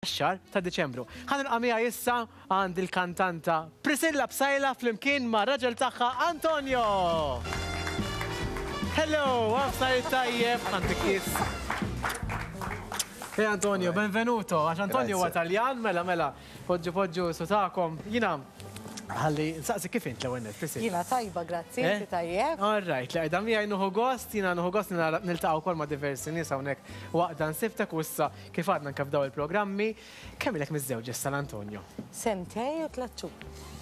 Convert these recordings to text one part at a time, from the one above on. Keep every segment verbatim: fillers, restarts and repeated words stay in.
Xahar ta' Diċembru. Ħa nilqa' miegħi issa għand il-kantanta Priscilla Psaila flimkien ma' raġel tagħha Antonio. Hello, għafsar tajjeb, għandek kiss. Hey Antonio, benvenuto. Għax Antonio huwa Taljan, mela mela, poġġu poġġu sutakom. Jiena, ħalli, nsaqsi kif int l-ewwel nett, Priscilla? Jiena tajba, grazzi, inti tajjeb. All right, li għidha miegħi nieħu gost, jiena nieħu gost niltaqgħu wkoll ma' diversi nies hawnhekk waqt dan siftek u issa kif għadna anke f'daw il-programmi. Kemm ilek miżżewġ issa l-Antonio? Sentej u tliet xhur.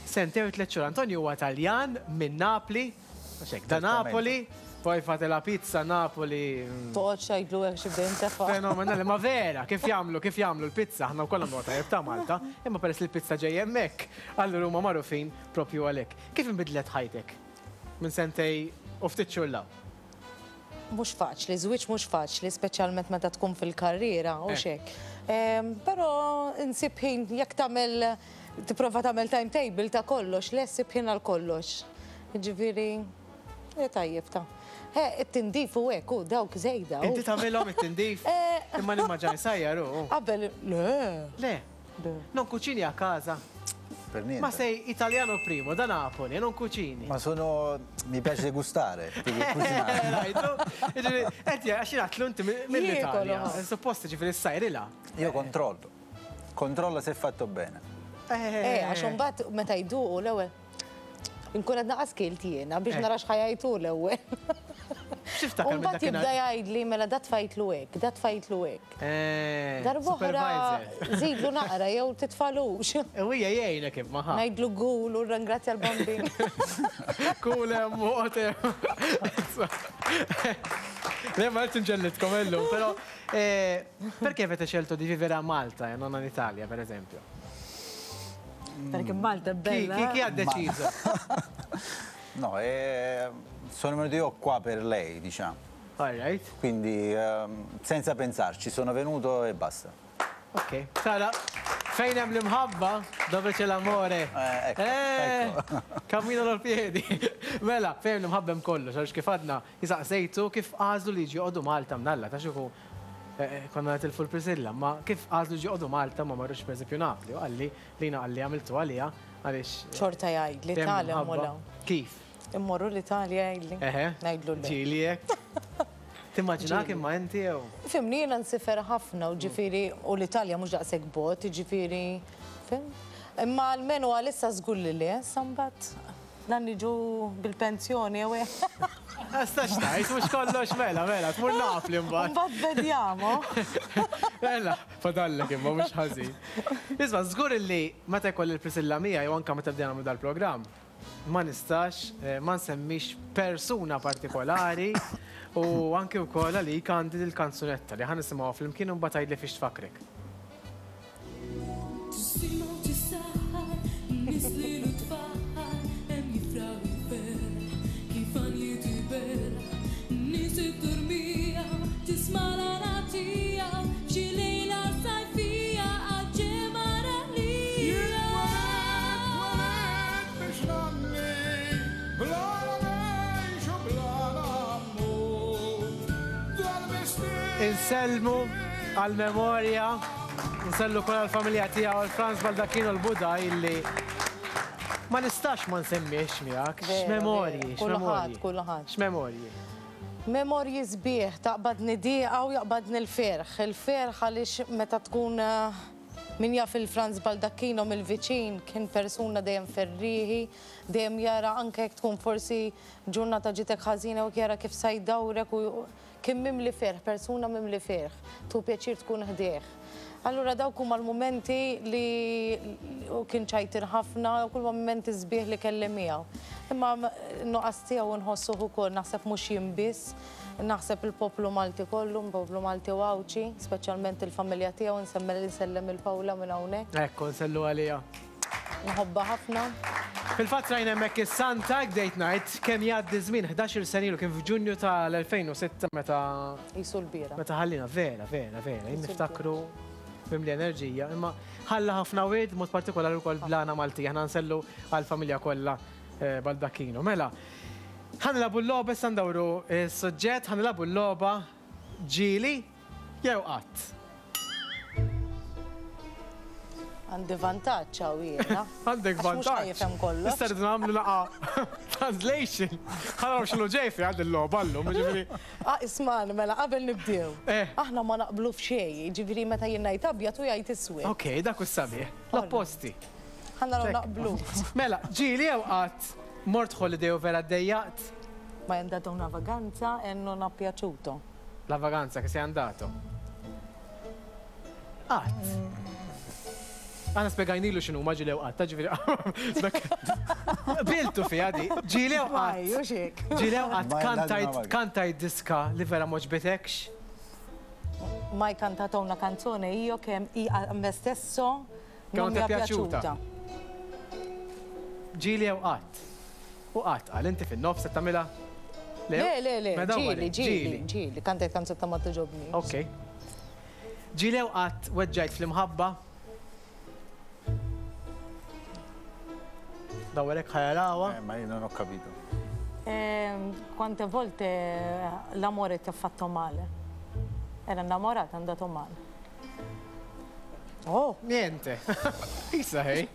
Sentej u tliet xhur. Antonio huwa Taljan minn Napli, mhux hekk, da Napoli, poi fate la pizza Napoli. Toqgħodx tgħidlu hekk xi bdejn tefa'. Fenomenali, ma vera, kif jagħmlu, kif jagħmlu l-pizza, aħna wkoll nagħmlu tajjeb ta' Malta, imma peress li l-pizza ġej hemmhekk, allura huma magħrufin propju għalhekk. Kif inbidlet ħajtek minn sentej u ftit xhur 'l hawn? Mhux faċli, żwieġ mhux faċli, speċjalment meta tkun fil-karriera u xek. Però insib ħin jekk tagħmel tipprova tagħmel timetable ta' kollox, le ssib ħin għal kollox. Jiġifieri, tajjeb ta' it-tindif u hekk, u dawk żejda. Inti tagħmilhom it-tindif? Imma nimmaġani sajjar u. Qabel, le. Le. Non cucini a casa? Per niente. Ma sei italiano primo, da Napoli, non cucini. Ma sono... mi piace gustare, più che cucinare. Enti, għax jien inti mill-Italja. Suppost ġifieri ssajrilha. Io controllo. Controllo se è fatto bene. Eh, għax imbagħad meta jduqu l-ewwel. Inkun qed naqas kilt jiena biex nara x'ħa jgħidu l-ewwel. X'tiftakar minn Mbagħad jibda jgħidli mela da tfajtlu hekk, da tfajtlu hekk. Darb'oħra żidlu naqra jew titfalux. U hija jgħinek imma ħa. Ngħidlu gul u ringrazzja l-bambin. Kul hemm u Le ma qed nġellidkom illum, però perché avete scelto di vivere a Malta e non in Italia, per esempio? Perché Malta è bella. Chi, chi, chi ha deciso? No, eh, sono venuto io qua per lei, diciamo. All right. Quindi eh, senza pensarci, sono venuto e basta. Ok. Sara, fejn hemm l-imħabba, dove c'è l'amore. Eh, ecco, eh, ecco. Camminano a piedi. Mela, fejn l-imħabba hemm kollox, għax kif għadna jisaqsejtu kif għażlu li jiġu joqogħdu Malta mnalla, ta' xuku konna nitilfu l-Priscilla, ma kif għażlu jiġu joqogħdu Malta ma marrux per eżempju Napli, u qalli lina qalli għamiltu għalija għaliex. Xorta jgħid l-Italja molla. Kif? Immorru l-Italja jgħidli. Eħe. Ngħidlu le. Ġieli hekk. Timmaġinak imma inti jew? Fimni jiena nsifer ħafna u ġifieri u l-Italja mhux daqshekk bot, ġifieri, fim? Imma almenu għalissa żgur li le, sambat dan niġu bil-pensjoni jew hekk. Għastax tajt, mhux kollox mela, mela, tmur Napli mbagħad. Mbagħad vediamo. Mela, fadallek imma mhux ħażin. Isma' żgur illi meta jkolli l-Priscilla miegħi jew anke meta bdejna nagħmlu dal-programm, ma nistax ma nsemmix persuna partikolari u anke wkoll għalik għandi dil-kanzunetta li ħa nisimgħuha flimkien u mbagħad tgħidli fiex tfakkrek. Insellmu għal-memorja, nsellu kol għal-familja tiegħu għal Franz Baldacchino l-Buda illi ma nistax ma nsemmiex miegħek. X'memorji, x'memorji. Kulħadd. X'memorji. Memorji sbieħ, taqbadni diqa u jaqbadni l-ferħ. Il-ferħ għaliex meta tkun min jaf il-Franz Baldacchino mill-viċin kien persuna dejjem ferrieħi, dejjem jara anke jekk tkun forsi ġurnata ġitek ħażina u jara kif sa jdawrek u kien mimli ferħ, persuna mimli ferħ, tu pjaċir tkun ħdejh. Allura dawk huma l-mumenti li kien ċajtir ħafna, u kull mumenti sbieħ li kelli miegħu. Imma nuqqas tiegħu nħossuh ukoll, naħseb mhux jien biss, naħseb il-poplu Malti kollu, il-poplu Malti u Għawdxi, speċjalment il-familja tiegħu, nsemmel insellem il-Pawla minn hawnhekk. Ekku, nsellu għalija. Nħobba ħafna. Fil-fatt rajna hemmhekk is-Santa bdejt ngħid kemm jgħaddi żmien ħdax-il sena ilu kien f'Ġunju tal-elfejn u sitta meta Jisu l-bira. Meta ħallina vera, vera, vera, jien niftakru mimli enerġija, imma ħalla ħafna wied mod partikolari wkoll blana Maltija, aħna nsellu għall-familja kollha Baldacchino. Mela, ħa nilagħbu l-logħba issa ndawru s-suġġett, ħa nilagħbu l-logħba ġieli jew qatt. Għandi vantaġġ hawn jiena. Għandek Għax mhux vantaġġ. ħajfhem kollox. Issa rridu nagħmlu laqa translation. Ħa naraw x'inhu ġej fi għad il-logħba llum, jiġifieri. Ah, ismani, mela qabel nibdew. Eh. Aħna ma naqblu f'xejn, jiġifieri meta jien ngħid abjad u jgħid iswed. Ok, dak hu sabiħ. L-opposti. Ħa naraw Check. naqblu. Mela, ġieli jew qatt mort holiday u vera ddejjaqt? Mai andato una vacanza e non ha piaciuto. La vacanza che sei andato? Qatt. Aħna spjegajnilu x'inhu ma ġieli jew qatt, ġifieri. Biltu fiha di. Ġieli jew Mai, qatt. u xek. Ġieli jew qatt Mai andato una kantajt vacanza. kantajt diska li vera m'għoġbitekx? Mai cantato una canzone io che i- a me stesso Che non non ti mi è è piaciuta. piaciuta. Ġieli jew qatt. U qatt qal inti fin-nofs qed tagħmilha? Le, le, le, Mela dawn ġieli, għalek, ġieli, ġieli, kantajt kanzunetta ma togħġobni. Ok. Ġieli jew qatt weġġajt fl-imħabba? Dawrek ħa jarawha. Eh, ma io non ho capito. Ehm, quante volte l'amore ti ha fatto male? Era innamorata, è andato male. Oh, Niente. Isa ħej.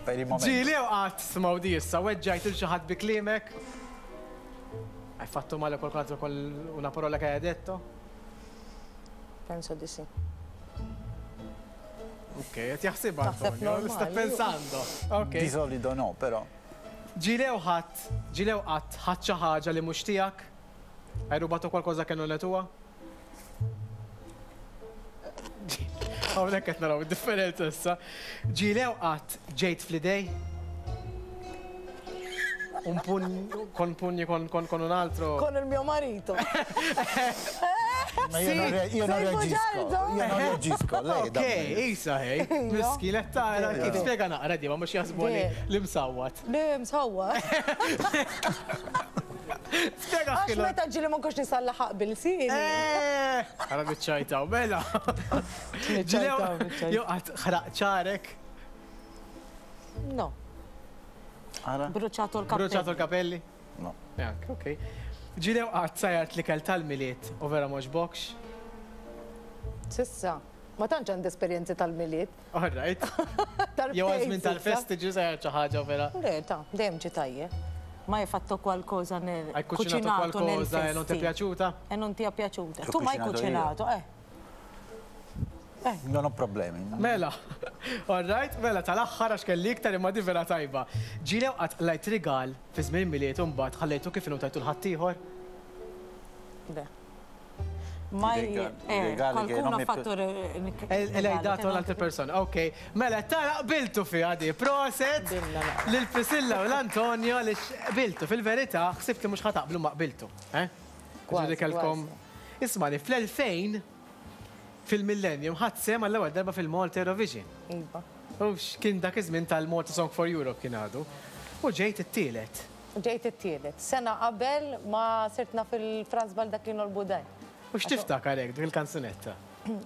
Per il momento. Ġieli jew qatt smgħu di issa weġġajt il xi ħadd bi kliemek? Hai fatto male qualcun altro con una parola che hai detto? Penso di sì. Ok, qed jaħsibha Naħseb Antonio, sta normali. pensando. Ok. Di solito no, però. Ġieli jew ħadd, ġieli jew qatt ħadd xi ħaġa li mhux tiegħek? Hai rubato qualcosa che non è tua? Hawnhekk qed naraw id-differenza issa. Ġieli jew qatt ġejt fl-idej? Un pugno, con pugni con, con, con un altro. Con il mio marito. Ma io non, re- io non Sei reagisco. bugiardo? Io non reagisco. Lei da Ok, me. isa ħej. Miskin, qed tara kif spjega naqra di ma mhux jaħsbu li li msawwat. Le, msawwa. Spjega Għax x'kienu. meta ġieli ma nkunx nisallaħaq bil-sini. Eh, Ara biċċajtaw, mela. Niċċajtaw, niċċajtaw. Jew qatt ħraq ċarek, No, Ara? bruciato il cappello. bruċato l-kapelli. No. Jank, ok. Ġieli jew qatt sajart l-ikel tal-Milied u vera m'għoġbokx? Sissa, ma tantx għandi esperjenzi tal-Milied. All right. Jew għal żmien tal-festi ġi sajart xi ħaġa u vera. Le, ta' dejjem ġi tajjeb. Ma hai fatto qualcosa nel Hai cucinato nel qualcosa e non ti è festi. piaciuta? E non ti è piaciuta. Ho Tu mai cucinato cucinato, eh? Non ho problemi. Mela, all right, mela tal-aħħar għax kelli iktar imma di vera tajba. Ġieli jew qatt qlajt rigal fi żmien Milied u mbagħad ħallejtu kif inhu tajtu l-ħaddieħor? Beh. Mai regali- eh, i regali che qualcuno non ha mi fatto re- E regali l'hai che dato non all'altra ti- persona. Ok, mela tara qbiltu fiha di proset Billa, la. lil Priscilla u l-Antonio li qbiltu fil-verità ħsibt li mhux ħa taqblu ma qbiltu. Eh? Kważi, Ġifieri kellkom. Ismani, fl-elfejn fil-Millennium ħadd sehem għall-ewwel darba fil-Malta Eurovision. Iva. U kien dak iż-żmien tal-Malta Song for Europe kien għadu. U ġejt it-tielet. Ġejt it-tielet. Sena qabel ma sirtna fil-Franz Baldacchino l-Budaj. U x'tiftakar hekk dik il-kanzunetta?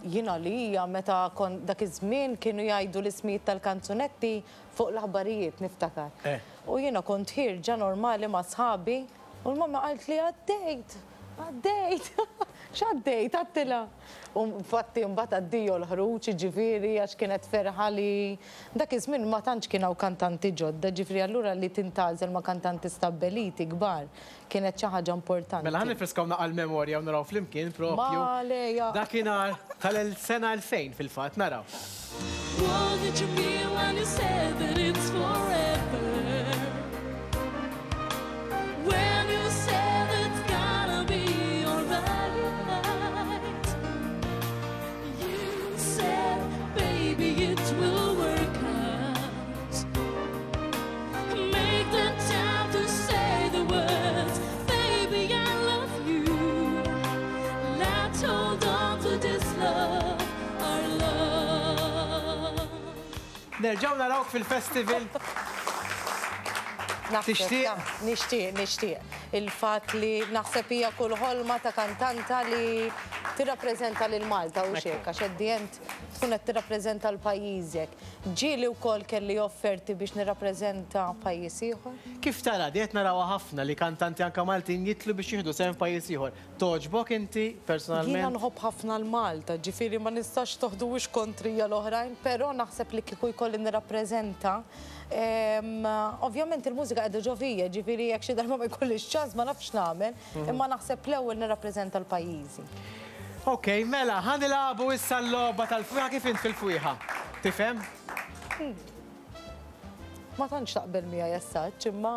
Jiena li hija meta kon dak iż-żmien kienu jgħidu l-ismijiet tal-kanzunetti fuq l-aħbarijiet niftakar. Eh. U jiena kont ħierġa normali ma' sħabi u l-mamma qalt li għaddejt, għaddejt, x'għaddejt, għattilha. U infatti mbagħad addio l-ħruġ, ġifieri għax kienet ferħa li dak iż-żmien ma tantx kien hawn kantanti ġodda, ġifieri allura li tintgħażel ma' kantanti stabbiliti kbar kienet xi ħaġa importanti. Mela ħa nifriskaw naqra l-memorja u naraw flimkien propju. Ma leja. Dakinhar tal-sena elfejn fil-fatt naraw. What did you mean when you said that it's forever? When you said it's gonna be alright. You said, baby, it will work out. Make the time to say the words, baby, I love you. Let's hold on to this love, our love. Nerġgħu narawk fil-festival. Naħseb, Tixtieq? ta' Nixtieq, nixtieq. Il-fatt li naħseb hija kull ħolma ta' kantanta li Tirrappreżenta lil Malta u xek, għax at the end tkun qed tirrappreżenta l-pajjiżek. Ġieli wkoll kelli offerti biex nirrappreżenta pajjiż ieħor. Kif tara, di qed narawha ħafna li kantanti anka Maltin jitlu biex jieħdu sehem f'pajjiż ieħor. Togħġbok inti Jiena personalment? nħobb ħafna l-Malta, ġifieri ma nistax toħduwix kontrija l-oħrajn, però naħseb li kieku jkolli nirrappreżenta. em, Ovvjament il-mużika qiegħda ġo fija, ġifieri jekk xi darba ma jkollix ċans ma nafx nagħmel, imma naħseb l-ewwel nirrappreżenta l-pajjiżi. Ok, mela, ħa nilagħbu issa l-logħba tal-fwieħa. Kif int fil-fwieħa? Tifhem? Ma tantx taqbel miegħi jessaċ, imma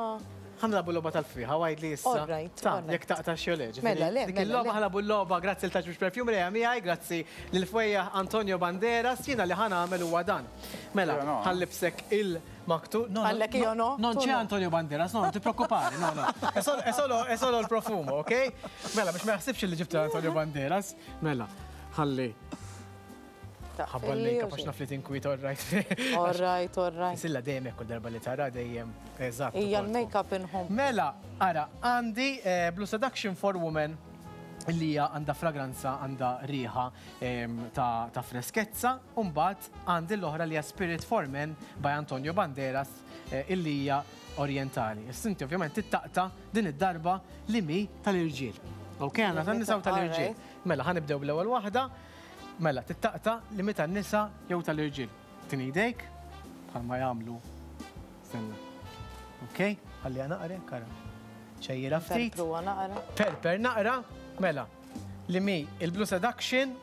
Ħa nilagħbu l-logħba tal-fwieħa, għajdli issa. All right, Ta' all right. jekk taqta' xi le, ġifieri. Mela, le, Dik mela, il-logħba le. ħa nilagħbu l-logħba, grazzi lil Ta' Xbiex Perfumery miegħi, grazzi lil fwejjaħ Antonio Banderas, jiena li ħa nagħmel huwa dan. Mela, Io no. ħa nlibbsek il-maktu. No, no, Għallek io no? Non Tu c'è no. Antonio Banderas, no, non ti preoccupare, no, no. È solo, è solo, è solo il profumo, ok? Mela, biex ma jaħsibx li ġibta Antonio Banderas. Mela, ħalli. Ħabba l-make-up għax naf li tinkwiet, all right. All right, all right. Silla dejjem hekk kull darba li tara dejjem eżatt. Ija ukoll. l-make-up inħobb. Mela, ara, għandi eh, Blue Seduction for Women li hija għandha fragranza, għandha riħa em, ta', ta' freskezza, u mbagħad għandi l-oħra li hija Spirit for Men by Antonio Banderas eh, illi hija orientali. Issa inti ovvjament tittaqta din id-darba li mi tal-irġiel. Ok, għandna tan-nisa u tal-irġiel. Mela, ħa nibdew bl-ewwel waħda. Mela, tittaqta li mi tan-nisa jew tal-irġiel. Tini idejk, bħalma jagħmlu. Stenna. Ok, ħalli naqra, kara. ċejjira ftit. Perpruwa naqra. Perper naqra, mela, li mi il-Blue Seduction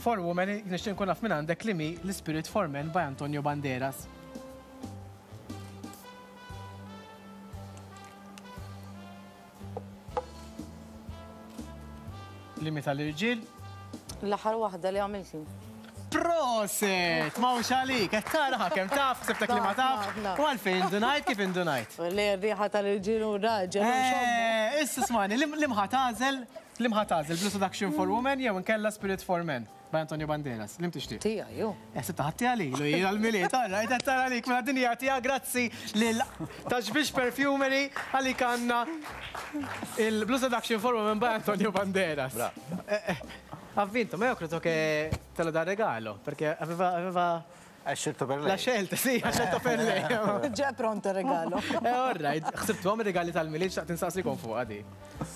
for Women, nixtieq nkun naf minn għandek li mi l-Spirit for Men by Antonio Banderas. Li mi tal-irġiel. L-aħħar waħda li għamilti. Prosit! Ma hux għalik, qed tara kemm taf, ħsibtek li ma taf. Naf, naf. U għalfejn indunajt kif indunajt. Li r-riħa tal-irġiel u raġel. u xommu. Eh, Issa smani, li mħa tagħżel, li mħa tagħżel Blue Seduction for Women jew inkella Spirit for Men by Antonio Banderas. Lim tixtieq? Tija, ju. Eh, Sibta ħatti għalilu, jien għal-Milied, għarra, qed tara għalik, mela din hija tija, grazzi lil Ta' Xbiex Perfumery għalik għandna il-Blue Seduction for Women by Antonio Banderas. Bravo. Eh, eh, Ha vinto, ma io credo che te lo dà regalo, perché aveva, aveva Hai scelto per lei. la scelta, sì, ha scelto per lei. Ġa pronto regalo. Eh, all right, ħsibtu għam regali tal-Milied, xtaqt insaqsikom fuq għadi.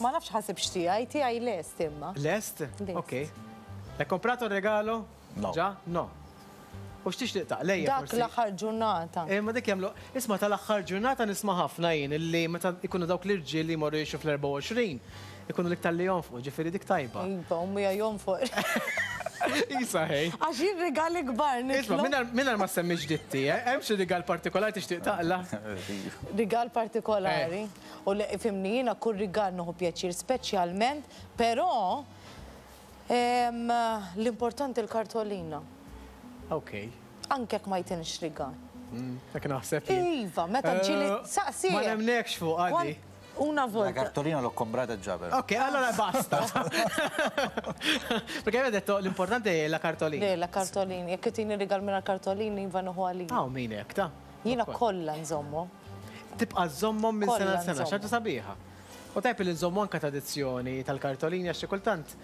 Ma nafx ħasib x'tiegħi, tiegħi lest imma. Lest? Lest. Ok. L'hai comprato il regalo? No. Già? No. U x'tixtieq taqlejja Dak forsi? l-aħħar ġurnata. Eh, ma dik jagħmlu, isma' tal-aħħar ġurnata nisma' ħafna jien illi meta ikunu dawk l-irġiel li jmorru jixtru fl-erbgħa u għoxrin, ikunu l-iktar li jonfqu, ġifieri dik tajba. Iva, ummi jonfoq. Isa ħej. Għax jien rigali kbar Isma' nitlob. mingħajr mingħajr ma semmix ditti, eh, hemm xi rigal partikolari tixtieq taqla? Rigal partikolari. U li fimni jiena kull rigal nieħu pjaċir speċjalment, però em, l-importanti l-kartolina. Ok. Anke jekk ma jtinx rigal. Dak naħseb jien. Iva, meta ġili Eh, saqsi. Ma nemnekx fuq għadi. Una La volta. cartolina l'ho comprata già però. Ok, allora basta. Perché aveva detto l'importante è la cartolina. Le, la cartolina. Jekk tini rigal minn cartolini, iva nieħu għalija. Ah, min hekk ta' Jiena kollha nżommu. Tibqa' żommhom minn sena Kollha sena, nżommhom. xaġa sabiħa. U tajb li nżommu anka tradizzjoni tal-kartolini għax xi kultant.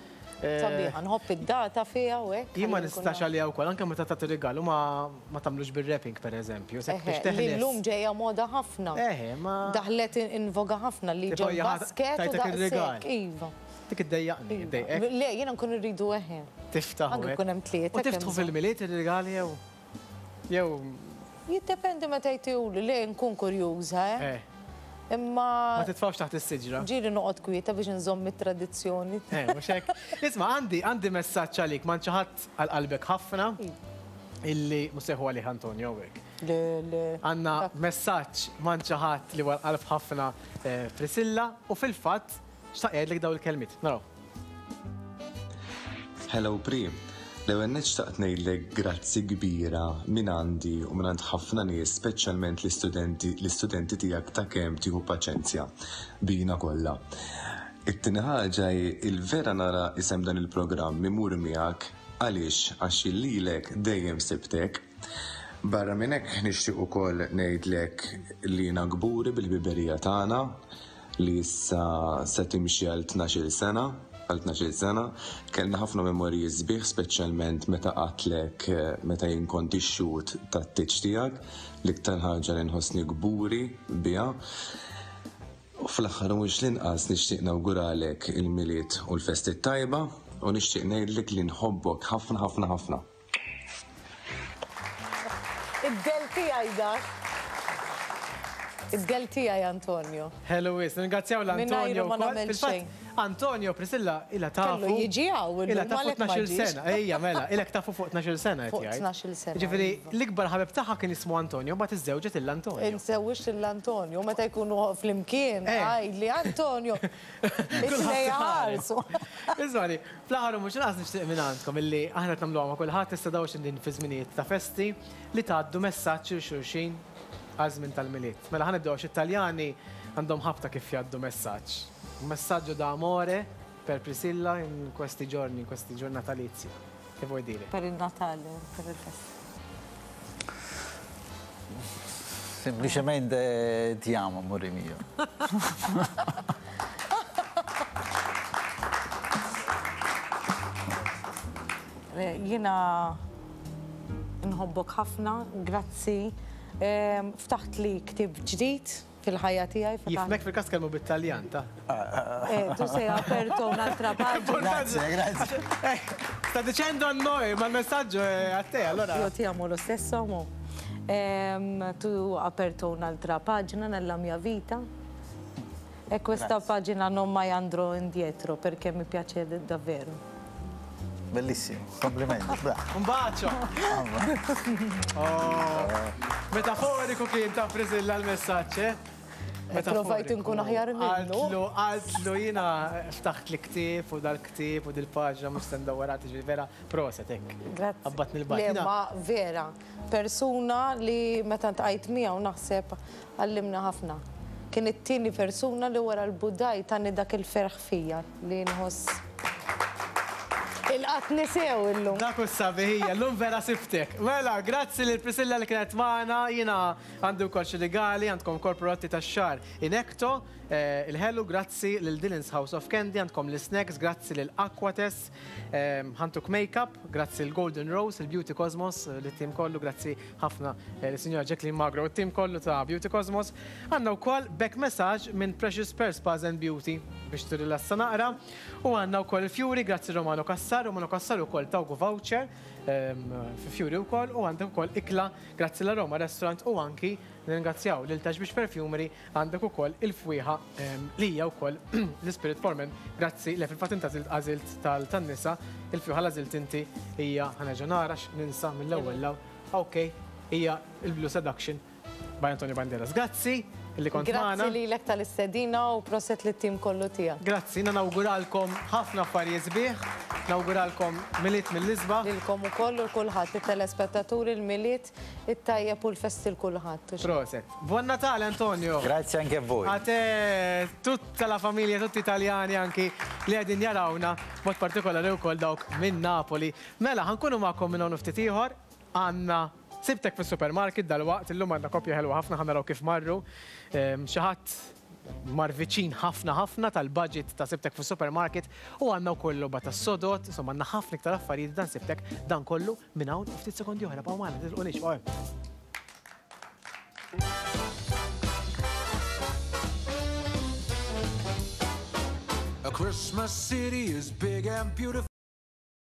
eh, Sabiħa, nħobb id-data fiha u hekk. Jien ma ħalli nkun nistax naf. għalija wkoll, anke meta tagħti rigalu ma ma tagħmlux bil-wrapping pereżempju, sekk biex Eħe, li teħles. llum ġejja moda ħafna. Eħe, ma Daħlet in in voga ħafna li Tipo, ġo hija ħa- basket u tajtek ir-rigal. daqshekk. Iva. Dik iddejjaqni, iddejqek. Le, jiena nkun irridu eħe. Tiftaħ. Anke hekk. jkun hemm tlieta U kemm tiftħu bżonn. fil-Milied ir-rigali jew jew Jiddependi meta jtihuli, le nkun kurjuża, eh. eh, Imma ma titfawx taħt is-siġra. ġieli noqgħod kwieta biex nżomm it-tradizzjoni. Eh, mhux hekk. Isma' għandi għandi messaġġ għalik, ma ħadd għal qalbek ħafna illi mhux seħu għalih Antonio hekk. Le, le. Għandna messaġġ man ħadd li għal qalb ħafna eh, Priscilla u fil-fatt xtaq jgħidlek daw il-kelmiet. Naraw. Hello Pri, l-ewwel nett xtaqt ngħidlek grazzi kbira minn għandi u minn għand ħafna nies, speċjalment l-istudenti l-istudenti tiegħek ta' kemm tieħu paċenzja bina kollha. It-tieni ħaġa hi il-vera nara isem dan il-programm imur miegħek għaliex għax lilek dejjem sibtek. Barra minn hekk nixtieq ukoll ngħidlek li jiena kburi bil-ħbiberija tagħna li issa se timxi għal tnax-il sena. għal tnax-il sena. Kellna ħafna memorji sbieħ, speċjalment meta qatlek meta jien kont ix-xhud tat-tieġ tiegħek, l-iktar ħaġa li nħossni kburi biha. U fl-aħħar mhux l-inqas nixtieq nawguralek il-Milied u l-festi tajba u nixtieq ngħidlek li nħobbok ħafna ħafna ħafna. Id-del tiegħi dak. Id-del tiegħi Antonio. Hello, wis, ringrazzjaw l-Antonio. Ma nagħmel xejn. Antonio, Priscilla, ila tafu. Kellu jiġi hawn Ila tafu tnax-il sena. Ejja, mela, ilek tafu fuq tnax-il sena. Fuq tnax-il sena. Ġifieri, l-ikbar ħabib tagħha kien ismu Antonio, mbagħad iżżewġet il-Antonio. Insewwix l-Antonio, meta jkunu flimkien, għajdli Antonio. It-tnejn ħarsu. Iżmani, fl-aħħar u mhux inqas nixtieq minn għandkom illi aħna qed nagħmluha ma' kulħadd issa dawx din fi żminijiet ta' festi li tgħaddu messaġġ lil xulxin għal żmien tal-Milied. Mela ħa nibdew għax it-Taljani għandhom ħabta kif jgħaddu messaġġ. Un messaggio d'amore per Priscilla in questi giorni, in questi giorni natalizi. Che vuoi dire? Per il Natale, per il festa. Semplicemente ti amo, amore mio. Jiena nħobbok ħafna, grazzi. Ftaħt li ktieb ġdid fil-ħajja tiegħi. Jifmek fil-każ kelmu bit-Taljan, ta? Eh, tu sei aperto un'altra pagina. Grazie, grazie. Sta dicendo a noi, ma il messaggio è a te, allora. Io ti amo lo stesso, amo. Tu aperto un'altra pagina nella mia vita e questa pagina non mai andrò indietro perché mi piace davvero. Bellissimo, complimenti, bravo. Un bacio! Oh, metaforiku kien ta' Priscilla l-messaġġ, eh? Provajt nkun aħjar minnu. Qaltlu, qaltlu jiena ftaħt li ktieb u dal-ktieb u dil-paġna mhux se ndawwarha tiġi vera proset hekk. Grazzi. Abbatni l-baġna. Le, ma vera, persuna li meta ntqajt miegħu naħseb għallimna ħafna. Kien it-tieni persuna li wara l-budaj tani dak il-ferħ fija li nħoss. Il-qatt nisew illum. Dak is-sabiħija, llum vera siftek. Mela, grazzi lil Priscilla li kienet magħna, jiena għandi wkoll xi rigali, għandkom ukoll prodotti tax-xagħar Inecto, il-ħelu, grazzi lil Dylan's House of Candy, għandkom l-snacks, grazzi lil Aquates, ħantuk Makeup, grazzi l Golden Rose, il-Beauty Cosmos, lit-tim kollu, grazzi ħafna lis-Sinjora Jacqueline Magro, it-tim kollu ta' Beauty Cosmos. Għandna wkoll back massage minn Precious Pearl Spas and Beauty biex tirilassa naqra. U għandna wkoll il-Fury, grazzi Romano Cassar, Romano Cassar ukoll tawgu voucher fi Fury wkoll, u għandek ukoll ikla grazzi la Roma Restaurant u anki nirringrazzjaw lil Tax Biex Perfumery, għandek ukoll il-fwieħa li hija wkoll l-Spirit for Men, grazzi li fil-fatt inta għażilt tan-nisa, il-fwieħa l-għażilt inti hija ħanerġa' nara ninsa mill-ewwel law. Ok, hija il-Blue Seduction by Antonio Banderas. Grazzi li kont magħna. Grazzi lilek tal-istedina u proset lit-tim kollu tiegħek. Grazzi, jiena nawguralkom ħafna affarijiet sbieħ, nawguralkom Milied mill-isbaħ. Lilkom ukoll u kulħadd, it-telespettaturi, il-Milied, it-tajjeb u l-festi l kulħadd. Proset. Buon Natale Antonio. Grazie anche a voi. A te, tutta la famiglia, tutti italiani anki li qegħdin jarawna, mod partikolari wkoll dawk minn Napoli. Mela, ħankunu magħkom minn hawn ftit ieħor, għandna sibtek fis-supermarket dal-waqt, illum għandna koppja ħelwa ħafna, ħa naraw kif marru. Xi ħadd mar viċin ħafna ħafna tal-budget ta' sibtek fis-supermarket u għandna wkoll logħba tas-sodot, insomma għandna ħafna iktar affarijiet dan sibtek dan kollu minn hawn ftit sekondi oħra, baqgħu magħna, titilqunix, baqgħu hemm. A Christmas city is big and beautiful.